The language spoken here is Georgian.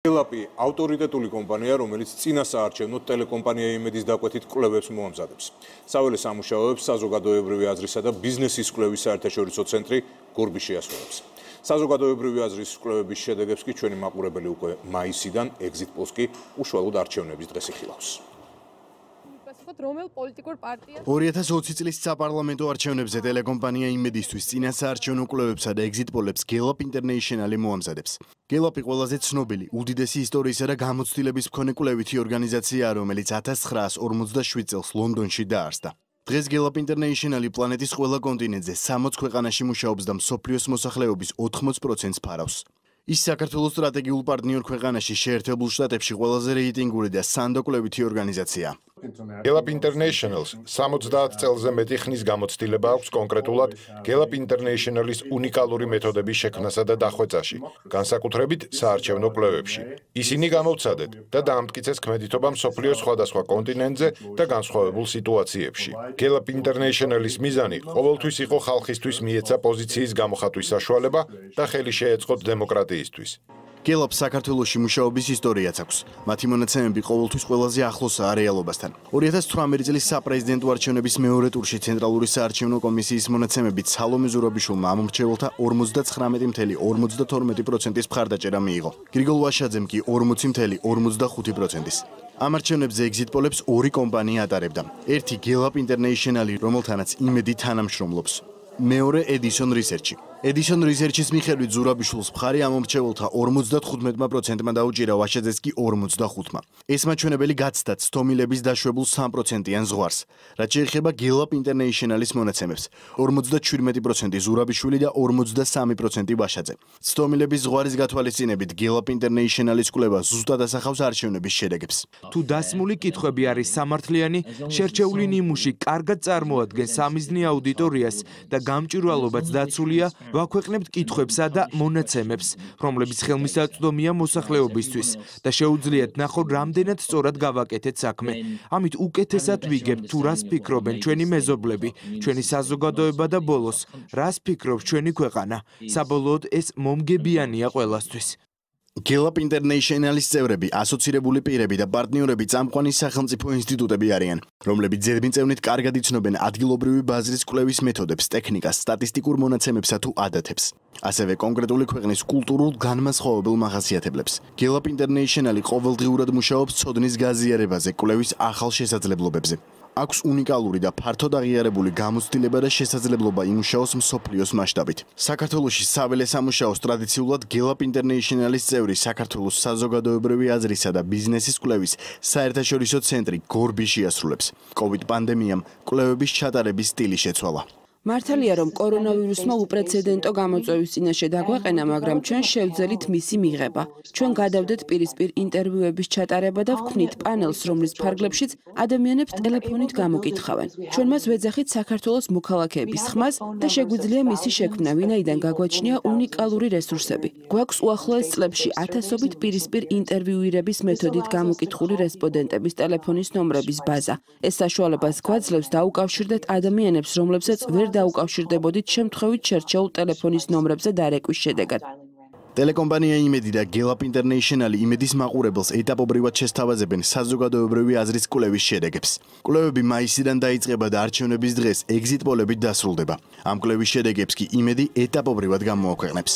Gelap-ი ავტორიტეტული კომპანია, რომელიც წინა საარჩევნო ტელეკომპანია იმედის დაკვეთით კვლევებს მოამზადებს. საველე სამუშაოებს საზოგადოებრივი აზრისა და ბიზნესის კვლევის საერთაშორისო ცენტრი გორბიში ასრულებს. საზოგადოებრივი აზრის კვლევების შედეგებს კი ჩვენი მაყურებელი უკვე მაისიდან exit polls-კი უშუალოდ არჩევნების დღეს იხილავს. 2020 წლის საპარლამენტო არჩევნებზე ტელეკომპანია იმედისთვის წინა საარჩევნო კვლევებსა და exit polls-ებს Gelap International მოამზადებს. Gelap-ი ყველაზე ცნობილი, უდიდესი ისტორიისა და გამოცდილების მქონე კვლევითი ორგანიზაციაა, რომელიც 1947 წელს ლონდონში დაარსდა. დღეს Gelap International პლანეტის ყველა კონტინენტზე 60 ქვეყანაში მუშაობს და მსოფლიოს მოსახლეობის 80%-ს ფარავს. ის საქართველოს სტრატეგიულ პარტნიორ ქვეყანაში შეერთებულ შტატებში ყველაზე რეიტინგური და სანდო კვლევითი ორგანიზაციაა. Gelap International-ს 70 წელზე მეტი ხნის გამოცდილება აქვს კონკრეტულად Gelap International-ის უნიკალური მეთოდების შექმნასა და დახვეწაში, განსაკუთრებით საარჩევნო კვლევებში. ისინი გამოვცადეთ და დაამტკიცეს ქმედითობა მსოფლიოს სხვადასხვა კონტინენტზე და განსხვავებულ სიტუაციებში. Gelap International-ის მიზანი ყოველთვის იყო ხალხისთვის მიეცა პოზიციის გამოხატვის საშუალება და ხელი შეეწყოთ დემოკრატიისთვის. Gelap საქართველოში მუშაობის ისტორიაც აქვს. მათი მონაცემები ყოველთვის ყველაზე ახლოსაა რეალობასთან. 2018 წლის საპრეზიდენტო არჩევნების მეორე ტურში ცენტრალური საარჩევნო კომისიის მონაცემებით სალომე ზურაბიშვილმა ამომრჩეველთა 59.52%-ის მხარდაჭერა მიიღო. გრიგოლ ვაშაძემ კი 40.45%-ის. ამ არჩევნებზე exit polls-ებს ორი კომპანია ატარებდა. ერთი Gelap International, რომელთანაც იმედი თანამშრომლობს. მეორე Edison Research. Edison Research-ის მიხედვით ზურაბიშვილს მხარი ამომრჩეველთა 55%-მა დაუჭირა, ვაშაძეს კი 45%-მა. ეს მაჩვენებელი გაცდათ სტომილების დაშვებულ 3%-იან ზღვარს. რაც შეეხება Gelap International-ის მონაცემებს, 57% ზურაბიშვილი და 43% ვაშაძე. სტომილების ზღვარის გათვალისწინებით Gelap International-ის კვლევა ზუსტად ასახავს არჩევნების შედეგებს. თუ დასმული კითხვები არის სამართლიანი, შერჩეული ნიმუში კარგად წარმოადგენს სამიზნე აუდიტორიას და გამჭვირვალობაც დაცულია, ვაქვეყნებთ კითხვებსა და მონაცემებს, რომლებიც ხელმისაწვდომია მოსახლეობისთვის და შეუძლიათ ნახოთ, რამდენად სწორად გავაკეთეთ საქმე. ამით უკეთესად ვიგებთ თუ რას ფიქრობენ ჩვენი მეზობლები, ჩვენი საზოგადოება და ბოლოს, რას ფიქრობს ჩვენი ქვეყანა. საბოლოოდ ეს მომგებიანია ყველასთვის. Gelap International-ის წევრები, ასოცირებული პირები და პარტნიორები წამყვანი სახელმწიფო ინსტიტუტები არიან, რომლებიც ზედმიწევნით კარგად იცნობენ ადგილობრივი ბაზრის კვლევის მეთოდებს, ტექნიკას, სტატისტიკურ მონაცემებსა თუ ადათებს. ასევე კონკრეტული ქვეყნის კულტურულ განმასხვავებელ მახასიათებლებს. Gelap International ყოველდღიურად მუშაობს ცოდნის გაზიარებაზე, კვლევის ახალ შესაძლებლობებზე. აქვს უნიკალური და ფართოდ აღიარებული გამოცდილება და შესაძლებლობა იმუშაოს მსოფლიოს მასშტაბით. საქართველოში საველე სამუშაოს ტრადიციულად Gelap International-ის წევრი საქართველოს საზოგადოებრივი აზრისა და ბიზნესის კვლევის საერთაშორისო ცენტრი გორბიში ასრულებს. COVID პანდემიამ კვლევების ჩატარების სტილი შეცვალა. მართალია, რომ კორონავირუსმა უპრეცედენტო გამოწვევის წინაშე დაგვაყენა, მაგრამ ჩვენ შევძელით მისი მიღება. ჩვენ გადავდეთ პირისპირ ინტერვიუების ჩატარება და ვქმნით პანელს, რომლის ფარგლებშიც ადამიანებს ტელეფონით გამოკითხავენ. ჩვენ მას ვეძახით საქართველოს მოქალაქეების ხმას და შეგვიძლია მისი შექმნა, ვინაიდან გაგვაჩნია უნიკალური რესურსები. გვაქვს უახლოეს წლებში ათასობით პირისპირ ინტერვიუირების მეთოდით გამოკითხული რესპონდენტების ტელეფონის ნომრების ბაზა. ეს საშუალებას გვაძლევს დაუკავშირდეთ ადამიანებს, რომლებსაც ვერ დაუკავშირდებოდით შემთხვევით შერჩეულ ტელეფონის ნომრებზე დარეკვის შედეგად. ტელეკომპანია იმედი და Gelap International იმედის მაყურებელს ეტაპობრივად შესთავაზებენ საზოგადოებრივი აზრის კვლევის შედეგებს. კვლევები მაისიდან დაიწყება და არჩევნების დღეს exit polls-ებით დასრულდება. ამ კვლევის შედეგებს კი იმედი ეტაპობრივად გამოაქვეყნებს.